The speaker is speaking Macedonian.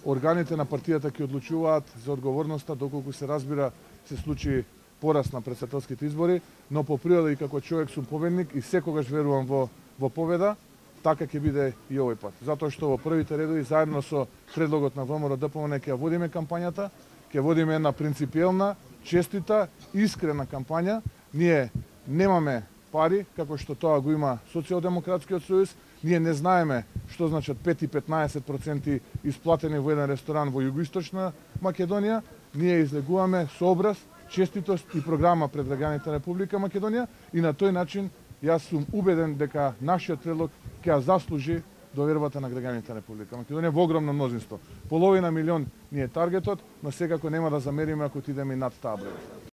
органите на партијата ќе одлучуваат за одговорноста, доколку се разбира се случи пораз на претседателските избори, но по природа и како човек сум победник и секогаш верувам во победа, така ќе биде и овој пат. Затоа што во првите редови заедно со предлогот на ВМРО-ДПМН ќе водиме кампањата, ќе водиме една принципиелна, честита, искрена кампања. Ние немаме пари, како што тоа го има Социјалдемократскиот сојуз. Ние не знаеме што значат 5 и 15% исплатени во еден ресторан во југоисточна Македонија. Ние излегуваме со образ, честитост и програма пред граѓаните на Република Македонија и на тој начин јас сум убеден дека нашиот предлог ќе ја заслужи довербата на граѓаните на Република Македонија во огромно мнозинство. Половина милион ни е таргетот, но секако нема да замериме ако отидеме и над таа бројка.